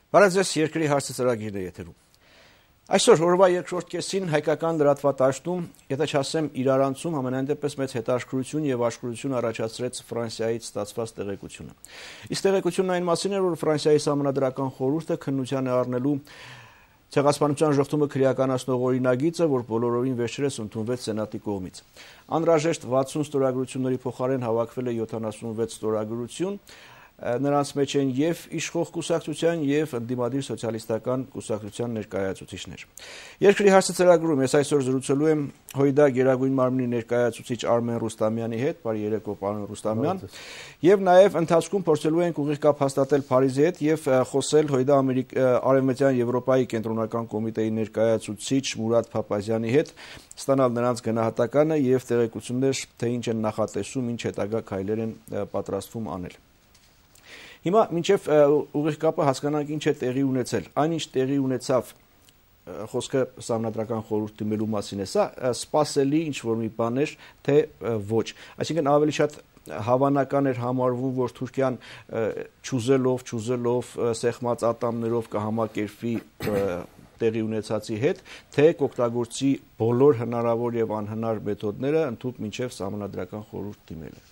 Բարեձեզ երկրի հարցը ծրագիրն է եթերում։ Այսօր օրվա երկրորդ կեսին հայկական լրատվատաշտում, եթե չասեմ իրարանցում, ամենայն դեպս մեծ հետաքրքրություն եւ աշխուժություն առաջացրեց Ֆրանսիայից ստացված տեղեկությունը։ Իսկ տեղեկությունն այն մասին էր, որ Ֆրանսիայի սահմանադրական խորհուրդը քննության է առնելու ցեղասպանության ժողովուրդը քրեականացնող օրինագիծը, որ բոլորովին վերջերս ընդունվեց Սենատի կողմից։ Անհրաժեշտ 60 ստորագրությունների փոխարեն հավաքվել է 76 ստորագրություն։ Նրանց մեջ են եւ իշխող կուսակցության եւ ընդդիմադիր սոցիալիստական կուսակցության ներկայացուցիչներ։ Երկրի հարցը ծրագրում ես այսօր զրուցելու եմ Հույդա Գերագույն մարմնի ներկայացուցիչ Արմեն Ռուստամյանի հետ, բարի երեկո պարոն Ռուստամյան, եւ նաեւ ընթացքում փորձելու ենք ուղիղ կապ հաստատել Փարիզի հետ եւ խոսել Հույդա Արևմտյան Եվրոպայի կենտրոնական կոմիտեի ներկայացուցիչ Մուրադ Փափազյանի հետ, ստանալ նրանց գնահատականը եւ տեղեկություններ, թե ինչ են նախատեսում, ինչ հետագա քայլեր են պատրաստվում անել։ Հիմա մինչև ուղիղ կապը հասկանանք ինչ է տեղի ունեցել։ Այնինչ տեղի ունեցավ խոսքը սահմանադրական խորհուրդ դիմելու մասին է, սա սպասելի ինչ-որ մի բան էր, թե ոչ։ Այսինքն ավելի շատ հավանական էր համարվում, որ Թուրքիան չուզելով սեղմած ատամներով կհամակերպվի տեղի ունեցածի հետ, թե կօգտագործի բոլոր հնարավոր եւ անհնար մեթոդները ընդհանուր մինչև սահմանադրական խորհուրդ դիմելը։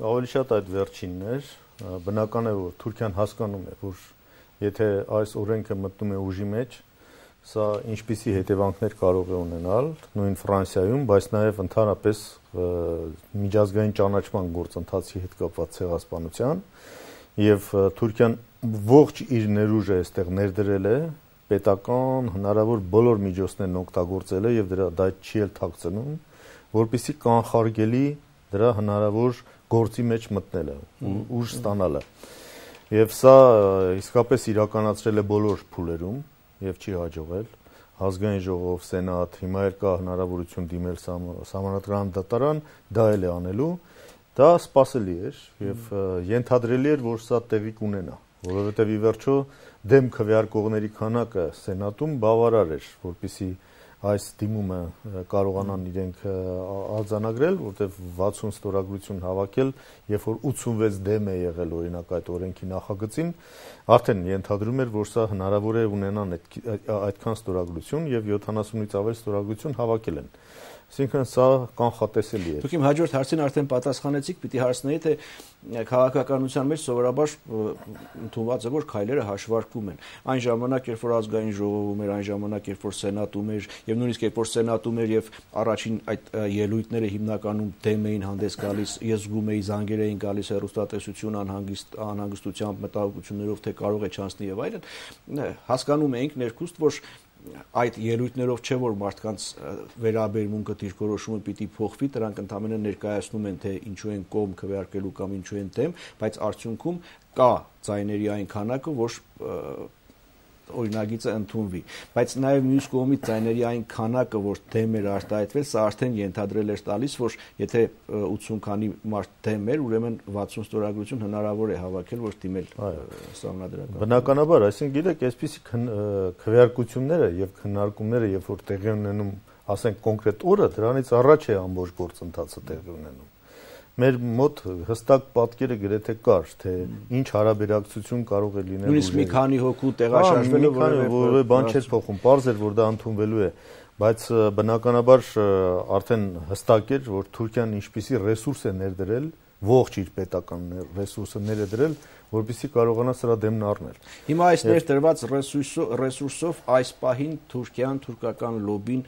Ավելի շատ այդ վերջինն էր, բնական է, որ Թուրքիան հասկանում է, որ եթե այս օրենքը մտնում է ուժի մեջ, սա ինչպիսի հետևանքներ կարող է ունենալ նույն Ֆրանսիայում, բայց նաև ընդհանրապես միջազգային ճանաչման գործընթացի հետ կապված ցեղասպանության, եւ Թուրքիան ողջ իր ներուժը այստեղ ներդրել է, պետական հնարավոր բոլոր միջոցներն օգտագործել է եւ դա չի էլ թաքցնում, որպեսզի կանխարգելի դրա հնարավոր գործի մեջ մտնելը, ուժ ստանալը։ Եվ սա իսկապես իրականացրել է բոլոր փուլերում եւ չի հաջողել։ Ազգային ժողով, սենատ, հիմա էլ կա հնարավորություն դիմել սահմանադրական դատարան, դա էլ է անելու։ Դա սպասելի էր եւ ենթադրելի էր, որ սա տեղի կունենա, որովհետեւ ի վերջո դեմ քվեարկողների քանակը սենատում բավարար էր, որպեսզի այս դիմումը կարողանան իրենք արձանագրել, որտեղ 60 ստորագրություն հավաքել, երբ որ 86 դեմ է եղել օրինակ այդ օրենքի նախագծին, արդեն ենթադրում էր, որ սա հնարավոր է ունենան այդքան ստորագրություն եւ 70-ից ավել ստորագրություն հավաքել են։ Այսինքն սա կանխատեսելի է։ Դուք իմ հաջորդ հարցին արդեն պատասխանեցիք, պիտի հարցնեի, թե քաղաքականության մեջ սովորաբար ընդունված է, որ քայլերը հաշվարկվում են։ Այն ժամանակ, երբ որ ազգային ժողովում էր, այն ժամանակ, երբ որ սենատում էր, եւ նույնիսկ երբ որ սենատում էր եւ առաջին այդ ելույթները հիմնականում դեմ էին հանդես գալիս, ես զգում էի զանգեր էին գալիս հեռուստատեսություն անհանգստությամբ, մտահոգություններով, թե կարող է չանցնի եւ այլն, հասկանում էինք ներքուստ, որ այդ ելույթներով չէ որ մարդկանց վերաբերմունքը դիրքորոշումը պիտի փոխվի, դրանք ընդհանրապես ներկայացնում են թե ինչու են կողմ քվեարկելու կամ ինչու են դեմ, բայց արդյունքում կա ձայների այն քանակը, որ օրինագիծը ընդունվի, բայց նաև մյուս կողմից ձայների այն քանակը, որ դեմ էր արտահայտվել, սա արդեն ենթադրել էր տալիս, որ եթե 80 քանի մարդ դեմ էր, ուրեմն 60 ստորագրություն հնարավոր է հավաքել, որ դիմել սահմանադրական։ Բնականաբար, այսինքն գիտեք, այսպիսի քվեարկությունները եւ քննարկումները, երբ որ տեղի ունենում, ասենք կոնկրետ օրը, դրանից առաջ է ամբողջ գործընթացը տեղի ունենում։ Մեր մոտ հստակ պատկերը գրեթե կար, թե ինչ հարաբերակցություն կարող է լինել։ Նույնիսկ մի քանի հոգու տեղաշարժվելը որևէ բան չէր փոխում, պարզ էր, որ դա ընդունվելու է, բայց բնականաբար արդեն հստակ էր, որ Թուրքիան ինչպիսի ռեսուրս է ներդրել, ողջ իր պետական ռեսուրսը ներդրել, որպեսզի կարողանա սրա դեմն առնել։ Հիմա այս ներդրված ռեսուրսով այս պահին Թուրքիան, թուրքական լոբին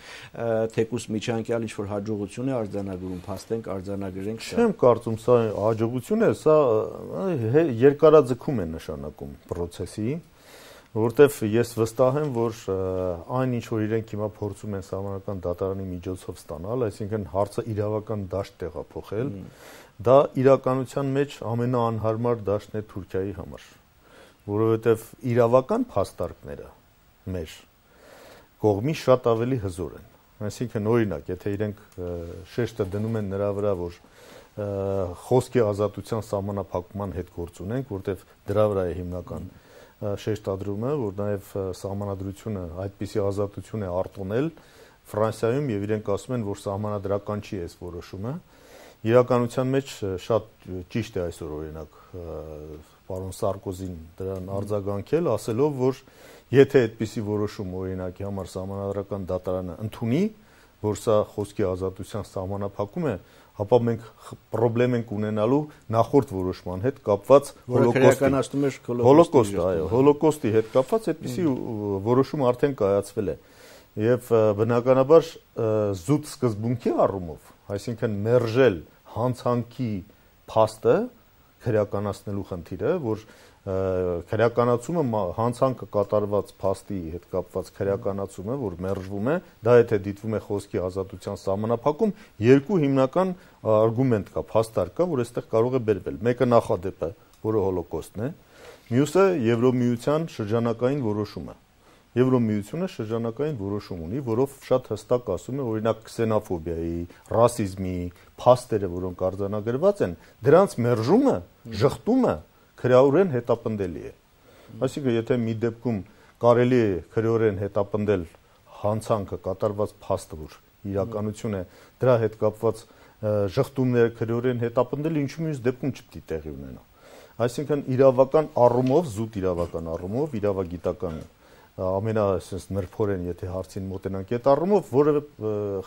թեկուս միջանկյալ ինչ-որ հաջողություն է արձանագրում, փաստենք արձանագրենք։ Չեմ կարծում սա հաջողություն է, սա երկարաձգում է նշանակում process-ի, որտեվ ես վստահ եմ, որ այն ինչ որ իրենք հիմա փորձում են սահմանադրական դատարանի միջոցով ստանալ, այսինքն հարցը իրավական դաշտ տեղափոխել, դա իրականության մեջ ամենաանհարմար դաշտն է Թուրքիայի համար, որովհետև իրավական փաստարկները մեր կողմի շատ ավելի հզոր են։ Այսինքն օրինակ, եթե իրենք շեշտը դնում են նրա վրա, որ խոսքի ազատության սահմանափակման հետ գործ ունենք, որտեվ դրա վրա է հիմնական շեշտադրումը, որ նաև սահմանադրությունը այդպիսի ազատություն է արտոնել Ֆրանսիայում եւ իրենք ասում են, որ սահմանադրական չի այս որոշումը։ Իրականության մեջ շատ ճիշտ է այսօր օրինակ պարոն Սարկոզին դրան արձագանքել, ասելով, որ եթե այդպիսի որոշում օրինակի համար Սահմանադրական դատարանը ընդունի, որ սա խոսքի ազատության սահմանափակում է, ապա մենք խնդրեմ ենք ունենալու նախորդ որոշման հետ կապված հոլոկոստի հետ կապված այդպիսի որոշում արդեն կայացվել է եւ բնականաբար զուտ սկզբունքի առումով, այսինքն մերժել հանցանքի փաստը քրեականացնելու խնդիրը, որ քրեականացումը հանցանքը կատարված փաստի հետ կապված քրեականացումը, որ մերժվում է, դա եթե դիտվում է խոսքի ազատության սահմանափակում, երկու հիմնական արգումենտ կա, փաստար կա, որ այստեղ կարող է բերվել։ Մեկը նախադեպը, որը հոլոկոստն է, մյուսը Եվրոմիության շրջանակային որոշումը։ Եվրոմիությունը շրջանակային որոշում ունի, որով շատ հստակ ասում է, օրինակ քսենոֆոբիայի, ռասիզմի փաստերը, որոնք արձանագրված են, դրանց մերժումը, ժխտումը քրեորեն հետապնդելի է։ Այսինքն, եթե մի դեպքում կարելի է քրեորեն հետապնդել հանցանքը կատարված փաստը, որ իրականություն է, դրա հետ կապված ժխտումները քրեորեն հետապնդել, ինչու մյուս դեպքում չպետք է տեղի ունենա։ Այսինքն, իրավական առումով, զուտ իրավական առումով, իրավագիտական ամենասենս նրբորեն, եթե հարցին մոտենանք այդ առումով, որևէ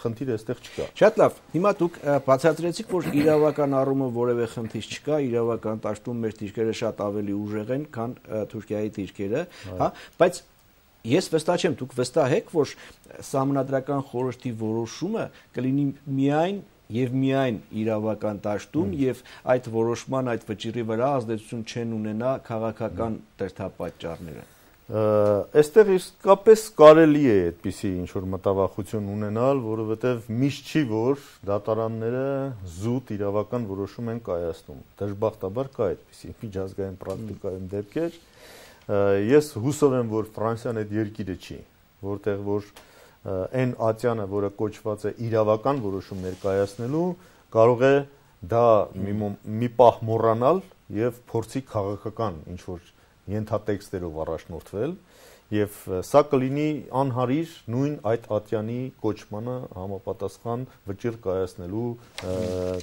խնդիր այստեղ չկա։ Շատ լավ։ Հիմա դուք բացատրեցիք, որ իրավական առումով որևէ խնդիր չկա, իրավական դաշտում մեր դիրքերը շատ ավելի ուժեղ են, քան Թուրքիայի դիրքերը, հա, բայց ես վստահ չեմ, դուք վստահ եք, որ Սահմանադրական խորհրդի որոշումը կլինի միայն եւ միայն իրավական դաշտում եւ այդ որոշման այդ վճիռի վրա ազդեցություն չեն ունենա քաղաքական դրդապատճառները։ Այստեղ իսկապես կարելի է այդպիսի ինչ-որ մտավախություն ունենալ, որովհետև միշտ չի, որ դատարանները զուտ իրավական որոշում են կայացնում։ Դժբախտաբար կա այդպիսի միջազգային պրակտիկայում դեպքեր։ Ես հուսով եմ, որ Ֆրանսիան այդ երկիրը չի, որտեղ որ այն ատյանը, որը կոչված է իրավական որոշումներ կայացնելու, կարող է դա մի պահ մոռանալ եւ փորձի քաղաքական ինչ-որ ենթատեքստերով առաջնորդվել եւ սա կլինի անհարիր նույն այդ ատյանի կոչմանը համապատասխան վճիռ կայացնելու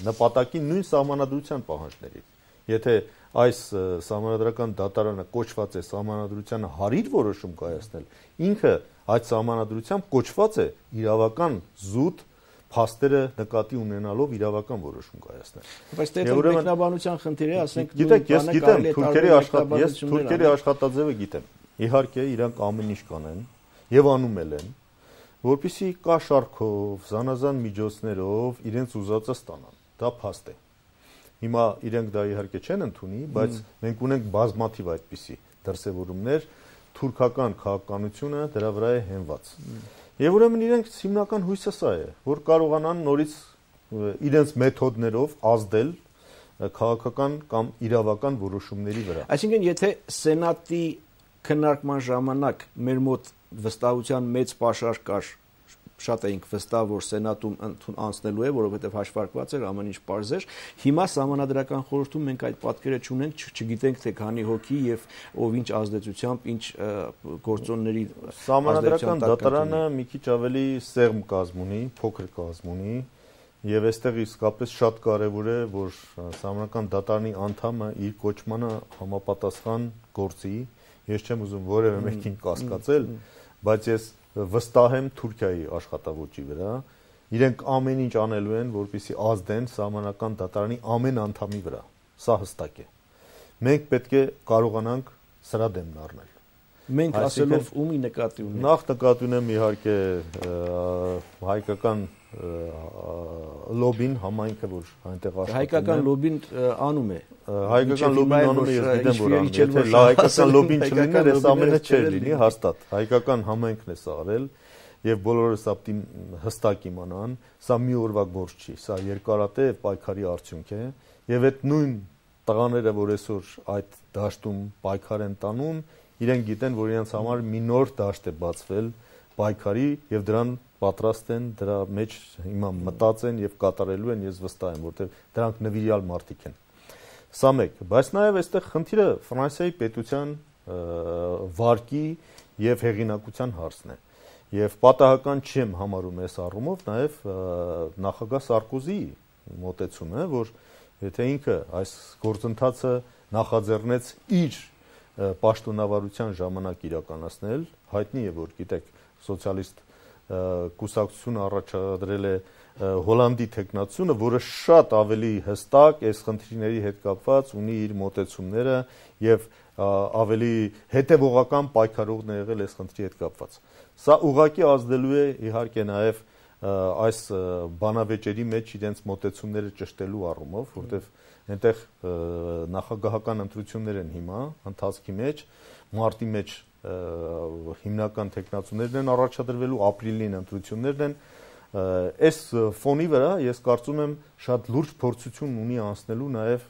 նպատակին նույն սահմանադրության պահանջների։ Եթե այս սահմանադրական դատարանը կոչված է սահմանադրությանը հարիր որոշում կայացնել, ինքը այդ սահմանադրությամբ կոչված է իրավական զուտ փաստերը նկատի ունենալով իրավական որոշում կայացնել։ Բայց դե մեկնաբանության խնդիր է, ասենք գիտեք, ես գիտեմ, թուրքերի աշխատաձևը գիտեմ։ Իհարկե, իրանք ամեն ինչ կանեն եւ անում են, որպեսզի կաշառքով, զանազան միջոցներով իրենց ուզածը ստանան։ Դա փաստ է։ Հիմա իրենք դա իհարկե չեն ընդունի, բայց մենք ունենք բազմաթիվ այդպիսի դրսևորումներ, թուրքական քաղաքականությունը դրա վրա է հենված։ Եվ ուրեմն իրենք հիմնական հույսը սա է, որ կարողանան նորից իրենց մեթոդներով ազդել քաղաքական կամ իրավական որոշումների վրա։ Այսինքն, եթե Սենատի քննարկման ժամանակ մեր մոտ վստահության մեծ պաշար կար, շատ էինք վստահ, որ Սենատում անցնելու է, որովհետև հաշվարկված էր, ամեն ինչ պարզ էր, հիմա Սահմանադրական խորհրդում մենք այդ պատկերը չունենք, չգիտենք թե քանի հոգի եւ ով ինչ ազդեցությամբ, ինչ գործոնների Սահմանադրական դատարանը մի քիչ ավելի սեղմ կազմ ունի, փոքր կազմ ունի, եւ այստեղ իսկապես շատ կարեւոր է, որ Սահմանադրական դատարանի անդամը իր կոչմանը համապատասխան գործի։ Ես չեմ ուզում որևէ մեկին կասկածել, բայց ես վստահ եմ Թուրքիայի աշխատավոճի վրա, իրենք ամեն ինչ անելու են, որպեսզի ազդեն Սահմանադրական դատարանի ամեն անդամի վրա, սա հստակ է։ Մենք պետք է կարողանանք սրա դեմն առնել։ Մենք ասելով ումի նկատի ունենք։ Նախ նկատի ունեմ իհարկե հայկական լոբին, համայնքը, որ այնտեղ աշխատում է։ Հայկական լոբին անում է։ Հայկական լոբին անում է, ես գիտեմ, որ անում է։ Եթե հայկական լոբին չլիներ, այս ամենը չէր լինի, հաստատ։ Հայկական համայնքն է սա արել եւ բոլորս ապտին հստակ իմանան, սա մի օրվա գործ չի, սա երկարատև պայքարի արդյունք է եւ այդ նույն տղաները, որ այսօր այդ դաշտում պայքար են տանում, իրենք գիտեն, որ իրենց համար մի նոր դաշտ է բացվել պայքարի եւ դրան պատրաստ են դրա մեջ հիմա մտածեն եւ կատարելու են, ես վստահ եմ, որտեղ դրանք նվիրյալ մարդիկ են։ Սա մեկ, բայց նաեւ այստեղ խնդիրը Ֆրանսիայի պետության վարկի եւ հեղինակության հարցն է։ Եվ պատահական չեմ համարում այս առումով նաեւ նախագահ Սարկոզիի մոտեցումը, որ եթե ինքը այս գործընթացը նախաձեռնեց իր պաշտոնավարության ժամանակ իրականացնել, հայտնի է, որ գիտեք, սոցիալիստ կուսակցությունը առաջադրել է Հոլանդի տեխնացությունը, որը շատ ավելի հստակ այս խնդիրների հետ կապված ունի իր մոտեցումները եւ ավելի հետեւողական պայքարողն է եղել այս խնդրի հետ կապված։ Սա ուղղակի ազդելու է իհարկե նաեւ այս բանավեճերի մեջ իրենց մոտեցումները ճշտելու առումով, որտեղ այնտեղ նախագահական ընտրություններ են հիմա ընթացքի մեջ, մարտի մեջ հիմնական տեխնացուներն են առաջադրվելու, ապրիլին ընտրություններն են։ Այս ֆոնի վրա ես կարծում եմ շատ լուրջ փորձություն ունի անցնելու նաև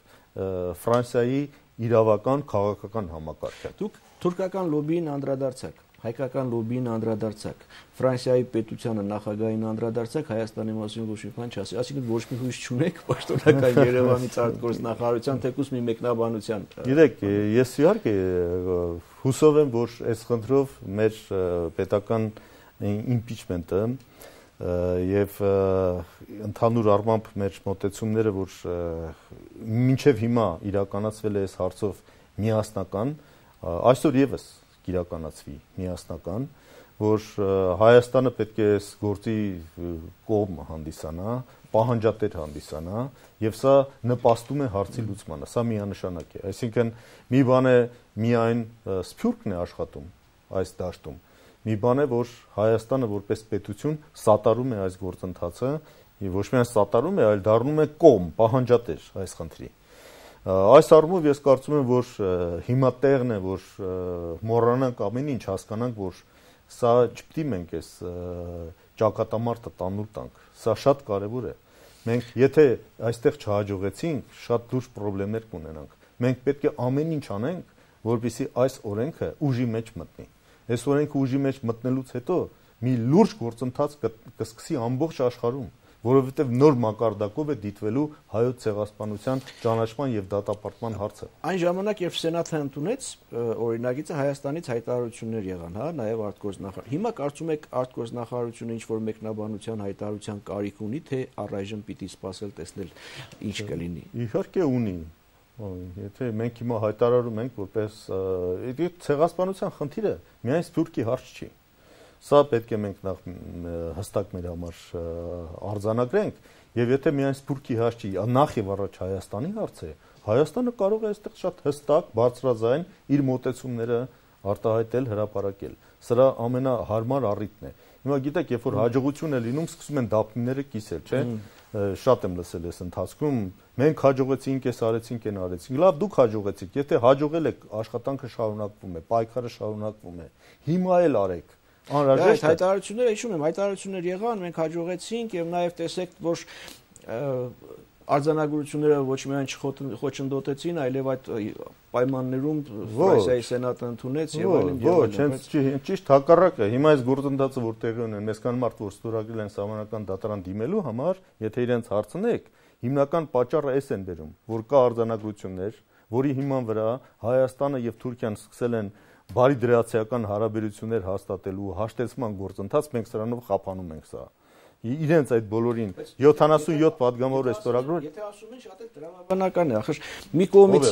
Ֆրանսիայի իրավական քաղաքական համակարգը։ Դուք թուրքական լոբիին անդրադարձաք, հայկական լոբիին անդրադարձաք, Ֆրանսիայի պետությանը նախագահին անդրադարձաք, Հայաստանի մասին ոչ մի բան չասի, այսինքն ոչ մի հույս չունեք պաշտոնական Երևանից արտգործնախարարության թեկուզ մի մեկնաբանության։ Գիտեք, ես իհարկե հուսով եմ, որ այս խնդրով մեր պետական իմպիչմենտը եւ ընդհանուր առմամբ մեր մոտեցումները, որ մինչեւ հիմա իրականացվել է այս հարցով միասնական, այսօր եւս կիրականացվի միասնական, որ Հայաստանը պետք է այս գործի կողմ հանդիսանա, պահանջատեր հանդիսանա եւ սա նպաստում է հարցի լուծմանը, սա միանշանակ է, այսինքն մի բան է միայն Սփյուռքն է աշխատում այս դաշտում, մի բան է, որ Հայաստանը որպես պետություն սատարում է այս գործընթացը եւ ոչ միայն սատարում է, այլ դառնում է կողմ, պահանջատեր այս խնդրի։ Այս առումով ես կարծում եմ, որ հիմա տեղն է, որ մոռանանք ամեն ինչ, հասկանանք, որ սա չպետք է մենք այս ճակատամարտը տանուլ տանք։ Սա շատ կարևոր է։ Մենք եթե այստեղ չհաջողեցինք, շատ լուրջ խնդիրներ կունենանք։ Մենք պետք է ամեն ինչ անենք, որպեսզի այս օրենքը ուժի մեջ մտնի։ Այս օրենքը ուժի մեջ մտնելուց հետո մի լուրջ գործընթաց կսկսի ամբողջ աշխարհում, որովհետև նոր մակարդակով է դիտվելու հայոց ցեղասպանության ճանաչման եւ դատապարտման հարցը։ Այն ժամանակ, երբ Սենատը ընդունեց օրինագիծը, Հայաստանից հայտարարություններ եղան, հա, նաեւ արտգործնախարար։ Հիմա կարծում եք արտգործնախարարությունը ինչ որ մեկնաբանության հայտարարության կարիք ունի, թե առայժմ պիտի սպասել տեսնել ինչ կլինի։ Իհարկե ունի։ Եթե մենք հիմա հայտարարում ենք, որպես ցեղասպանության խնդիրը միայն Սփյուռքի հարց չի։ Սա պետք է մենք հստակ մեր համար արձանագրենք, եւ եթե միայն Սփյուռքի հարց չի, նախ եւ առաջ Հայաստանի հարց է, Հայաստանը կարող է այստեղ շատ հստակ, բարձրաձայն իր մոտեցումները արտահայտել, հրապարակել։ Սրա ամենահարմար առիթն է։ Հիմա գիտեք, երբ որ հաջողություն է լինում, սկսում են դափնիները կիսել, չէ՞։ Շատ եմ լսել այս ընթացքում, մենք հաջողեցինք, այս արեցինք, այն արեցինք։ Լավ, դուք հաջողեցիք, եթե հաջողել եք, աշխատանքը շարունակվում է, պայքարը շարունակվում է։ Հիմա էլ արեք։ Անհրաժեշտ է։ Հայտարարությունները, հիշում եմ, հայտարարություններ եղան, մենք հաջողեցինք եւ նաեւ տեսեք, որ արձանագրությունները ոչ միայն չխոչընդոտեցին, այլև այդ պայմաններում Ֆրանսիայի սենատը ընդունեց եւ այլն եւ այլն։ Ոչ, ճիշտ հակառակը։ Հիմա այս գործընթացը որ տեղի ունեն, այսքան մարդ որ ստորագրել են Սահմանադրական դատարան դիմելու համար, եթե իրենց հարցնեք, հիմնական պատճառը էս են բերում, որ կա արձանագրություններ, որի հիման վրա Հայաստանը եւ Թուրքիան սկսել են բարի դրացիական հարաբերություններ հաստատելու հաշտեցման գործընթաց, մենք սրանով խափանում ենք սա։ Իրենց այդ բոլորին 77 падգամավոր է ստորագրել։ Եթե ասում են շատ էլ դրամաբանական է, ախր մի կողմից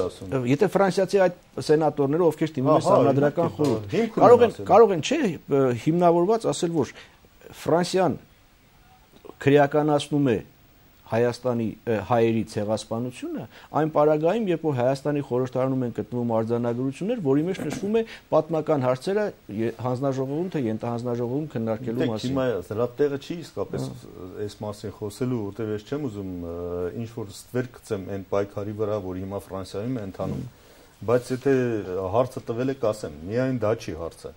եթե ֆրանսիացի այդ սենատորները, ովքեր դիմում են Սահմանադրական խորհուրդ, կարող են, չէ, հիմնավորված ասել, որ Ֆրանսիան քրեականացնում է Հայաստանի հայերի ցեղասպանությունը, այն պարագայում, երբ որ Հայաստանի խորհրդարանում են գտնվում արձանագրություններ, որի մեջ նշվում է պատմական հարցերը հանձնաժողովում թե ենթահանձնաժողովում քննարկելու մասին։ Հիմա դրա տեղը չի իսկապես այս մասին խոսելու, որտեղ ես չեմ ուզում ինչ որ ստվեր գցեմ այն պայքարի վրա, որ հիմա Ֆրանսիայում է ընթանում, բայց եթե հարցը տվել եք, ասեմ, միայն դա չի հարցը։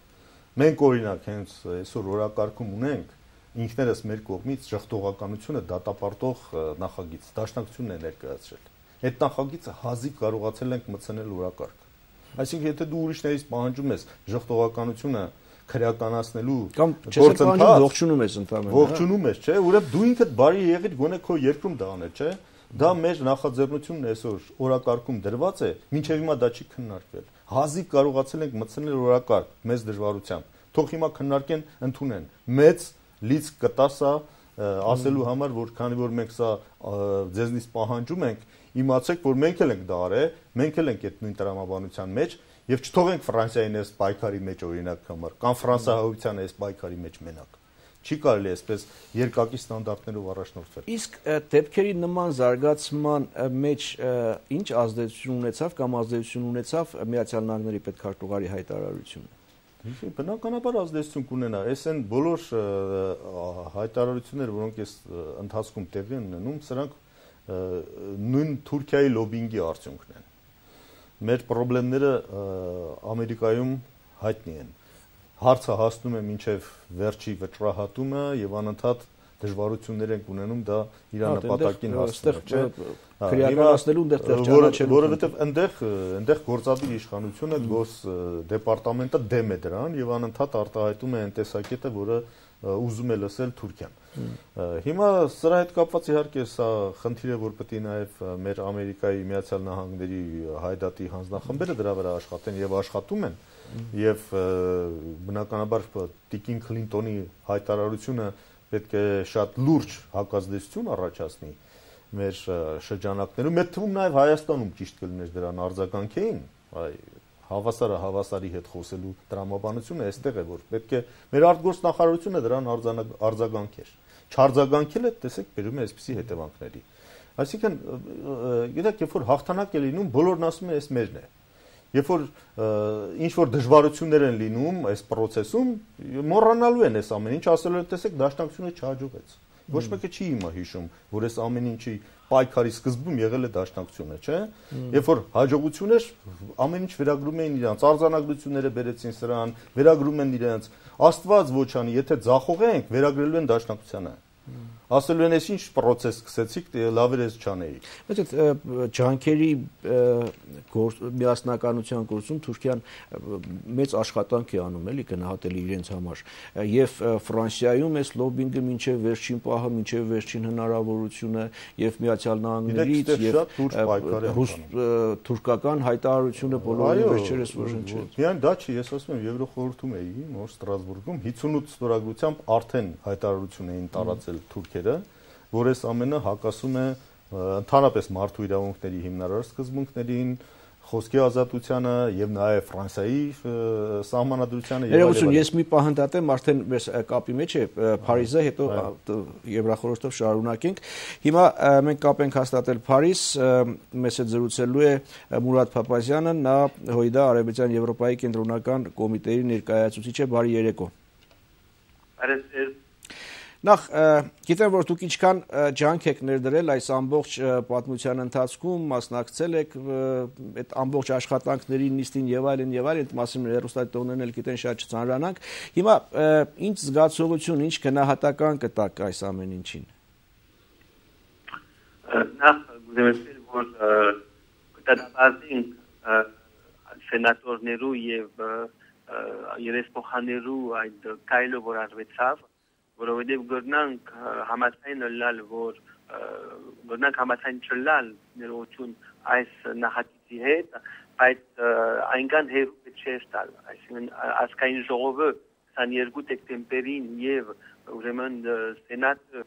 Մենք օրինակ հենց այսօր օրակարգում ունենք ինքներս մեր կողմից ժխտողականությունը դատապարտող նախագիծ, դաշնակցությունն է ներկայացրել։ Այդ նախագիծը հազիվ կարողացել ենք մտցնել օրակարգ։ Այսինքն, եթե դու ուրիշներից պահանջում ես ժխտողականությունը քրեականացնելու գործընթաց, ողջունում ես ընդհանրապես։ Ողջունում ես, չէ՞, ուրեմն դու ինքդ բարի եղիր, գոնե քո երկրում դա անել, չէ՞։ Դա մեր նախաձեռնությունն այսօր օրակարգում դրված է, մինչև հիմա դա չի քննարկվել։ Հազիվ կարողացել ենք մտցնել օրակարգ մեծ դժվարությամբ։ Թող հիմա քննարկեն, ընդունեն։ Մեծ լիցք կտա սա ասելու համար, որ քանի որ մենք սա ձեզնից պահանջում ենք, իմացեք, որ մենք էլ ենք դա արել, մենք էլ ենք այդ նույն տրամաբանության մեջ եւ չթողենք Ֆրանսիային այս պայքարի մեջ օրինակ համար, կամ ֆրանսահայությանը այս պայքարի մեջ մենակ։ Չի կարելի այսպես երկակի ստանդարտներով առաջնորդվել։ Իսկ դեպքերի նման զարգացման մեջ ինչ ազդեցություն ունեցավ կամ ազդեցություն ունեցավ Միացյալ Նահանգների պետքարտուղարի հայտարարությունը։ Բնականաբար ազդեցություն կունենա, այս են բոլոր հայտարարությունները, որոնք այս ընթացքում տեղի են ունենում, սրանք նույն Թուրքիայի լոբինգի արդյունքն են։ Մեր խնդիրները Ամերիկայում հայտնի են։ Հարցը հասնում է մինչև վերջի վճռահատումը եւ անընդհատ դժվարություններ են ունենում դա իր նպատակին հասնել, քրեականացնելու այնտեղ ճանաչելու, որովհետեւ այնտեղ գործադիր իշխանությունը գոս դեպարտամենտը դեմ է դրան եւ անընդհատ արտահայտում է այն տեսակետը, որը ուզում է լսել Թուրքիան։ Հիմա սրա հետ կապված իհարկե սա խնդիր է, որ պետք է նաեւ մեր Ամերիկայի Միացյալ Նահանգների հայդատի հանձնախմբերը դրա վրա աշխատեն եւ աշխատում են եւ բնականաբար Տիկին Քլինտոնի հայտարարությունը պետք է շատ լուրջ հակազդեցություն առաջացնի մեր շրջանակներում, այդ թվում նաեւ Հայաստանում ճիշտ կլիներ դրան արձագանքեին, հավասարը հավասարի հետ խոսելու տրամաբանությունը այստեղ է, որ պետք է մեր արտգործնախարարությունը դրան արձագանքեր։ Չարձագանքելը տեսեք բերում է այսպիսի հետևանքների։ Այսինքն, գիտեք, երբ որ հաղթանակ է լինում, բոլորն ասում են, այս մերն է։ Երբ որ ինչ որ դժվարություններ են լինում այս process-ում, մոռանալու են այս ամեն ինչ, ասելով են, տեսեք, դաշնակցությունը չհաջողեց։ Ոչ մեկը չի հիմա հիշում, որ այս ամեն ինչի պայքարի սկզբում եղել է դաշնակցությունը, չէ՞։ Երբ որ հաջողություն էր, ամեն ինչ վերագրում էին իրանց, արձանագրությունները բերեցին սրան, վերագրում են իրանց, Աստված ոչ անի, եթե ձախողենք, վերագրելու են դաշնակցությանը։ Ասելու են, այս ինչ process սկսեցիք, լավ էր ես չանեի։ Բայց այդ ջանքերի միասնականության գործում Թուրքիան մեծ աշխատանք է անում, էլի գնահատելի իրենց համար։ Եվ Ֆրանսիայում այս լոբինգը մինչև վերջին պահը, մինչև վերջին հնարավորությունը եւ Միացյալ Նահանգներից եւ թուրքական հայտարարությունը բոլորին վերջերս որ հնչեց։ Միայն դա չի, ես ասում եմ, Եվրոխորհրդում էի, նոր Ստրասբուրգում 58 ստորագրությամբ արդեն հայտարարություն էին տարածել թուրքերը, որ այս ամենը հակասում է ընդհանրապես մարդու իրավունքների հիմնարար սկզբունքներին, խոսքի ազատությանը եւ նաեւ Ֆրանսիայի սահմանադրությանը եւ այլն։ Ես մի պահ հնդատեմ, արդեն մեզ կապի մեջ է Փարիզը, հետո Եվրախորհրդով շարունակենք։ Հիմա մենք կապ ենք հաստատել Փարիզ, մեզ հետ զրուցելու է Մուրադ Փափազյանը, նա ՀՅԴ Արևմտյան Եվրոպայի կենտրոնական կոմիտեի ներկայացուցիչ է, բարի երեկո։ Նախ գիտեմ, որ դուք ինչքան ջանք եք ներդրել այս ամբողջ պատմության ընթացքում, մասնակցել եք այդ ամբողջ աշխատանքների նիստին եւ այլն, այդ մասին հեռուստադիտողներն էլ գիտեն, շատ չծանրանանք։ Հիմա ինչ զգացողություն, ինչ գնահատական կտաք այս ամեն ինչին։ Նախ գուցե որ կտարածենք սենատորներու եւ երեսփոխաներու այդ կայլը որ արվեցավ, որովհետև գրնանք համաձայն լալ, որ գրնանք համաձայն չլալ ներողություն այս նախագծի հետ, բայց այնքան հերու չէ ստալ, այսինքն ազգային ժողովը 22 դեկտեմբերին եւ ուրեմն սենատը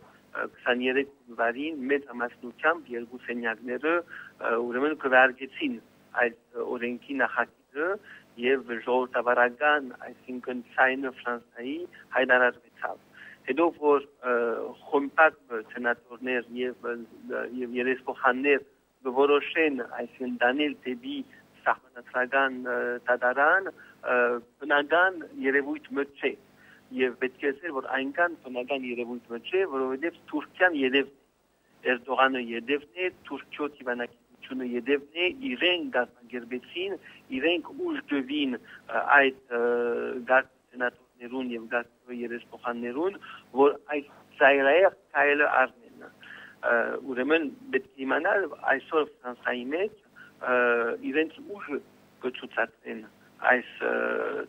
23 հունվարին մեծ ամասնությամբ երկու սենյակները ուրեմն քվեարկեցին այդ օրենքի նախագիծը եւ ժողովրդավարական, այսինքն ցայնը Ֆրանսիայի հայտարարվեցավ։ Հետո որ խմբակ սենատորներ եւ երեսփոխաններ որոշեն այսինքն դանել դեպի սահմանադրական դատարան բնական երևույթ մը չէ եւ պետք է ասել որ այնքան բնական երևույթ մը չէ որովհետեւ Թուրքիան յետև Էրդողանը յետևն է Թուրքիո դիվանագիտությունը յետևն է իրեն գազագերբեցին իրենք ուժ դվին այդ սենատորներուն եւ երեսփոխաններուն որ այս ծայրահեղ կայլը առնեն ուրեմն պետք է իմանալ այսօր Ֆրանսիայի մեջ իրենց ուժը կցուցադրեն այս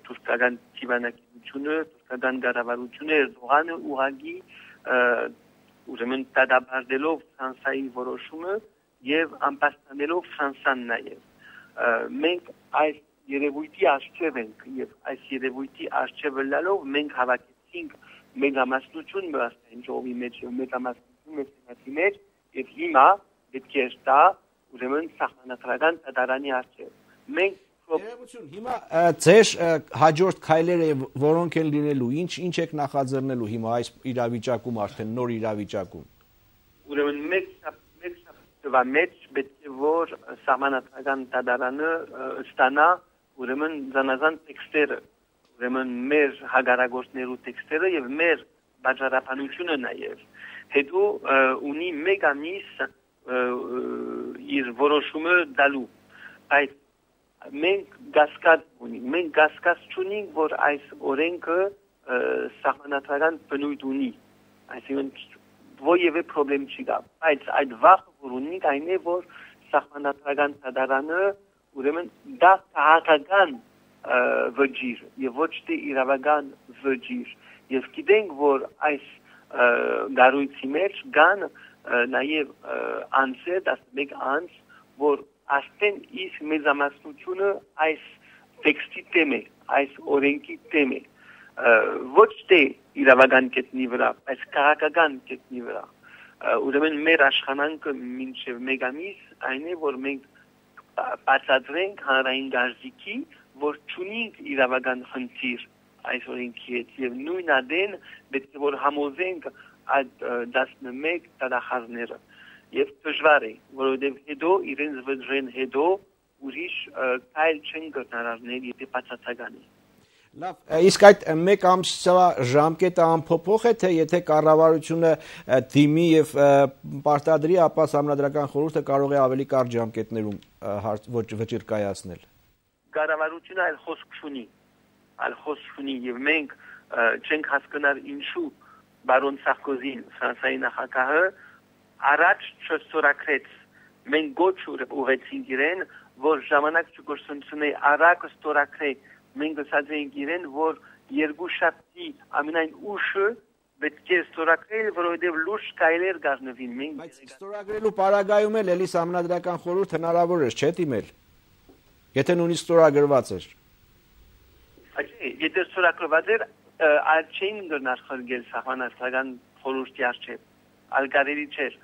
թուրքական դիվանագիտությունը թուրքական կառավարությունը Էրդողանը ուղղակի ուրեմն դադարելով Ֆրանսիայի որոշումը եւ անպաշտպանելով Ֆրանսիան նաեւ մենք այս երևույթի արժեվ ենք եւ այս երևույթի արժեվը լալով մենք հավաքեցինք մեգամասնություն մասնային ժողովի մեջ եւ մեգամասնություն մեծի մեջ եւ հիմա պետք է ստա ուրեմն սահմանադրական դատարանի առջև։ Մենք Հիմա ձեր հաջորդ քայլերը որոնք են լինելու, ինչ եք նախաձեռնելու հիմա այս իրավիճակում արդեն նոր իրավիճակում։ Ուրեմն մեկ շաբաթվա մեջ պետք է որ սահմանադրական դատարանը ստանա ուրեմն զանազան տեքստերը, ուրեմն մեր հագարագործներու տեքստերը եւ մեր բաժարապանությունը նաեւ։ Հետո ունի մեկ ամիս իր որոշումը դալու։ Այդ մենք գասկած չունենք, որ այս օրենքը սահմանադրական բնույթ ունի, այսինքն որևէ խնդրեմ չի գա, բայց այդ վախը որ ունենք այն է, որ սահմանադրական դատարանը ուրեմն դա քաղաքական վճիռ եւ ոչ թե իրավական վճիռ, եւ գիտենք, որ այս գարույցի մեջ կան նաեւ անձեր, 11 անձ, որ Աստեն իս մեծամասնությունը այս տեքստի տեմ է, այս օրենքի տեմ է, ոչ թե իրավական կետնի վրա, այս քաղաքական կետնի վրա։ Ուրեմն մեր աշխատանքը մինչև մեկ ամիս այն է, որ մենք բացատրենք հանրային գարզիքի, որ չունենք իրավական խնդիր այս օրենքի հետ եւ նույն ադեն պետք է որ համոզենք այդ 11 դատախազները։ Եվ դժվար է, որովհետև հետո իրենց վճռեն հետո ուրիշ քայլ չեն կրնարարներ, եթե բացասական է։ Լավ, իսկ այդ մեկ ամսվա ժամկետը անփոփոխ է, թե եթե կառավարությունը դիմի եւ պարտադրի, ապա Սահմանադրական խորհուրդը կարող է ավելի կարճ ժամկետներում վճիռ կայացնել։ Կառավարությունը այլ խոսք չունի, եւ մենք չենք հասկանալ ինչու բարոն Սարկոզին, Ֆրանսիայի նախագահը առաջ չստորագրեց, մենք գոչ ուղեցինք իրեն, որ ժամանակ չգործունի արագ ստորագրե, մենք ասած ենք իրեն, որ երկու շաբթի ամենայն ուշը պետք է ստորագրել, որովհետև լուրջ քայլեր կազմվին։ Բայց ստորագրելու պարագայում էլ էլի Սահմանադրական խորհուրդ հնարավոր է, չէ՞ դիմել։ Եթե նույնիսկ ստորագրված էր։ Եթե ստորագրված էր, այլ չէին գնար խրգել Սահմանադրական խորհրդի առջև, այլ կարելի չէր։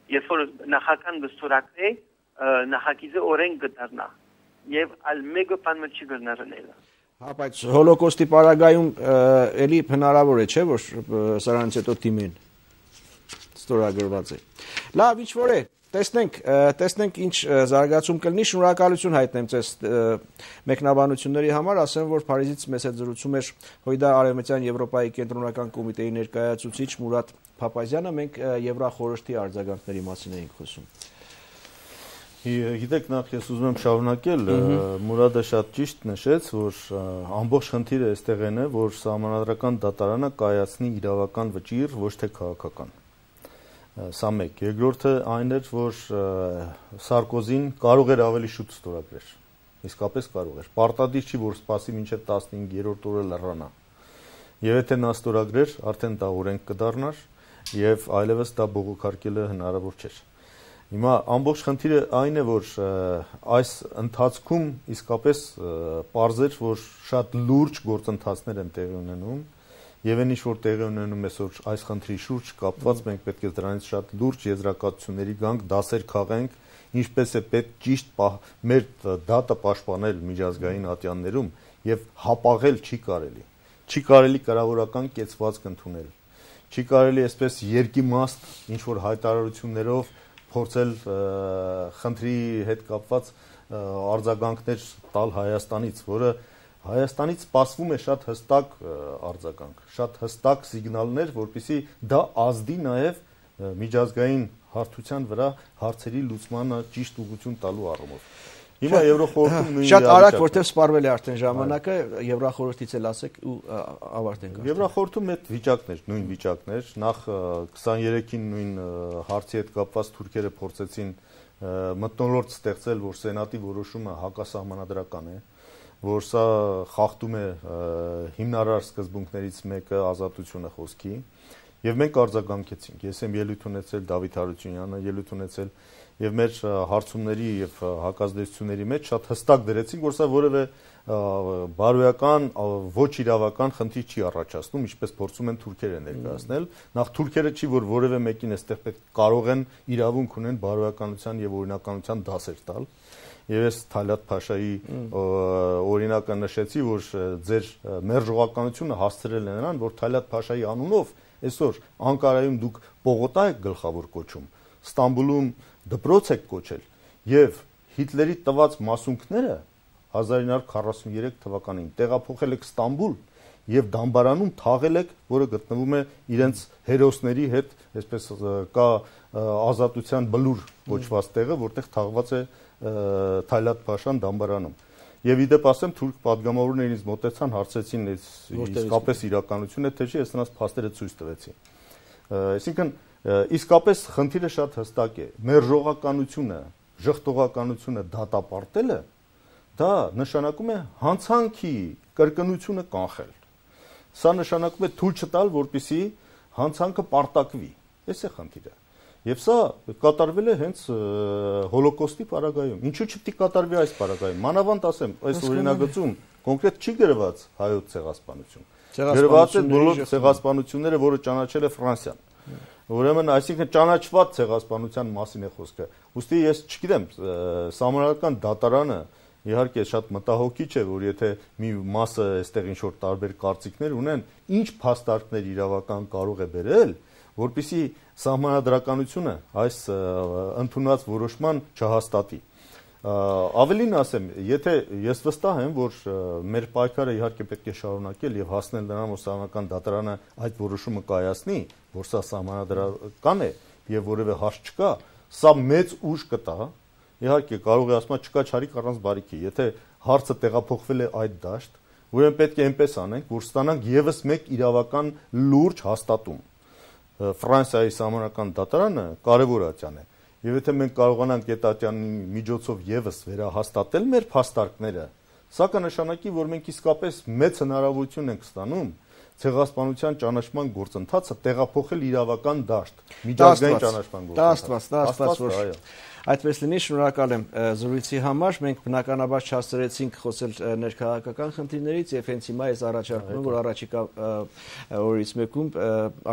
Երբ որ նախական կստորագրե, նախագիծը օրենք կդառնա եւ այլ մեկը բան չի գտնարնել։ Հա, բայց հոլոկոստի պարագայում էլի հնարավոր է, չէ՞, որ սրանից հետո դիմեն ստորագրված է։ Լավ, ինչ որ է, տեսնենք ինչ զարգացում կլինի, շնորհակալություն հայտնեմ ձեզ մեկնաբանությունների համար, ասեմ, որ Փարիզից մեզ հետ զրուցում էր Հույդա Արևմտյան Եվրոպայի կենտրոնական կոմիտեի ներկայացուցիչ Մուրադ Փափազյանը, մենք Եվրախորհրդի արձագանքների մասին էինք խոսում։ Գիտեք, նախ ես ուզում եմ շարունակել, Մուրադը շատ ճիշտ նշեց, որ ամբողջ խնդիրը այստեղ է, որ Սահմանադրական դատարանը կայացնի իրավական վճիռ, ոչ թե քաղաքական։ Սա մեկ։ Երկրորդը այն էր, որ Սարկոզին կարող էր ավելի շուտ ստորագրել։ Իսկապես կարող էր։ Պարտադիր չի, որ սպասի մինչև 15-րդ օրը լռանա։ Եվ եթե նա ստորագրեր, արդեն դա օրենք կդառնար եւ այլևս դա բողոքարկելը հնարավոր չէր։ Հիմա ամբողջ խնդիրը այն է, որ այս ընթացքում իսկապես պարզ էր, որ շատ լուրջ գործընթացներ են տեղի ունենում եւ այն ինչ որ տեղի ունենում այսօր այս խնդրի շուրջ կապված մենք պետք է դրանից շատ լուրջ եզրակացությունների գանք, դասեր քաղենք, ինչպես է պետք ճիշտ մեր դատը պաշտպանել միջազգային ատյաններում եւ հապաղել չի կարելի։ Չի կարելի կառավարական կեցվածք ընդունել։ Չի կարելի այսպես երկիմաստ ինչ որ հայտարարություններով փորձել խնդրի հետ կապված արձագանքներ տալ Հայաստանից, որը Հայաստանից սպասվում է շատ հստակ արձագանք, շատ հստակ սիգնալներ, որպեսզի դա ազդի նաև միջազգային հարթության վրա հարցերի լուծմանը ճիշտ ուղղություն տալու առումով։ Հիմա Եվրոխորհրդում նույն շատ արագ, որտեղ սպառվել է արդեն ժամանակը, Եվրախորհրդից էլ ասեք ու ավարտենք։ Եվրախորհրդում այդ վիճակներ, նույն վիճակներ, նախ 23-ին նույն հարցի հետ կապված թուրքերը փորձեցին մթնոլորտ ստեղծել, որ սենատի որոշումը հակասահմանադրական է, որ սա խախտում է հիմնարար սկզբունքներից մեկը ազատությունը խոսքի, եւ մենք արձագանքեցինք։ Ես եմ ելույթ ունեցել Դավիթ Հարությունյանը, ելույթ ունեցել եւ մեր հարցումների եւ հակազդեցությունների մեջ շատ հստակ դրեցինք, որ սա որևէ բարոյական ոչ իրավական խնդիր չի առաջացնում, ինչպես փորձում են թուրքերը ներկայացնել։ Նախ թուրքերը չի, որ որևէ մեկին այստեղ պետք կարող են իրավունք ունեն բարոյականության եւ օրինականության դասեր տալ։ Եվ ես Թալատ Փաշայի օրինակը նշեցի, որ ձեր մերժողականությունը հասցրել է նրան, որ Թալատ Փաշայի անունով այսօր Անկարայում դուք պողոտա եք գլխավոր կոչում, Ստամբուլում դպրոց եք կոչել եւ Հիտլերի տված մասունքները 1943 թվականին տեղափոխել եք Ստամբուլ եւ Դամբարանում թաղել եք, որը գտնվում է իրենց հերոսների հետ, այսպես կա ազատության բլուր կոչված տեղը, որտեղ թաղված է Թալատ Փաշան Դամբարանում։ Եվ իդեպ ասեմ, թուրք պատգամավորներն ինձ մոտեցան, հարցեցին, իսկապես իրականություն է, թե չէ, ես նրանց փաստերը ցույց տվեցի։ Այսինքն, իսկապես խնդիրը շատ հստակ է։ Մերժողականությունը, ժխտողականությունը դատապարտելը, դա նշանակում է հանցանքի կրկնությունը կանխել։ Սա նշանակում է թույլ չտալ, որպեսզի հանցանքը պարտակվի։ Այս է խնդիրը։ Եվ սա կատարվել է հենց հոլոկոստի պարագայում։ Ինչու չպետք է կատարվի այս պարագայում։ Մանավանդ ասեմ, այս օրինագծում կոնկրետ չի գրված հայոց ցեղասպանություն։ Գրված է բոլոր ցեղասպանությունները, որը ճանաչել է Ֆրանսիան։ Ուրեմն, այսինքն ճանաչված ցեղասպանության մասին է խոսքը։ Ուստի ես չգիտեմ, Սահմանադրական դատարանը իհարկե շատ մտահոգիչ է, որ եթե մի մասը այստեղ ինչ որ տարբեր կարծիքներ ունեն, ինչ փաստարկներ իրավական կարող է բերել, որպեսզի սահմանադրականությունը այս ընդունած որոշման չհաստատի։ Ավելին ասեմ, եթե ես վստահ եմ, որ մեր պայքարը իհարկե պետք է շարունակել եւ հասնել նրան, որ Սահմանադրական դատարանը այդ որոշումը կայացնի, որ սա սահմանադրական է եւ որևէ հարց չկա, սա մեծ ուժ կտա։ Իհարկե կարող է ասում չկա չարիք առանց բարիքի, եթե հարցը տեղափոխվել է այդ դաշտ, ուրեմն պետք է այնպես անենք, որ ստանանք եւս մեկ իրավական լուրջ հաստատում։ Ֆրանսիայի Սահմանադրական դատարանը կարևոր ատյան է։ Եվ եթե մենք կարողանանք այդ ատյանի միջոցով եւս վերահաստատել մեր փաստարկները, սա կնշանակի, որ մենք իսկապես մեծ հնարավորություն ենք ստանում ցեղասպանության ճանաչման գործընթացը տեղափոխել իրավական դաշտ, միջազգային ճանաչման գործընթաց։ Այդպես լինի, շնորհակալ եմ զրույցի համար։ Մենք բնականաբար չհասցրեցինք խոսել ներքաղաքական խնդիրներից եւ հենց հիմա ես առաջարկում եմ, որ առաջիկա օրից մեկում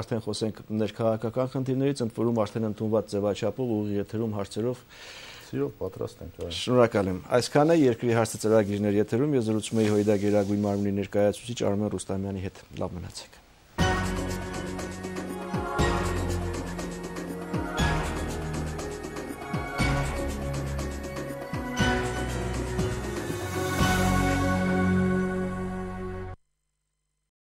արդեն խոսենք ներքաղաքական խնդիրներից, ընդ որում արդեն ընդունված ձևաչափով ուղիղ եթերում հարցերով Սիրով պատրաստ ենք։ Շնորհակալ եմ։ Այսքան է երկրի հարցը ծրագիրներ եթերում։ Ես զրուցում եի ՀՅԴ Գերագույն մարմնի ներկայացուցիչ Արմեն Ռուստամյանի հետ։ Լավ մնացեք։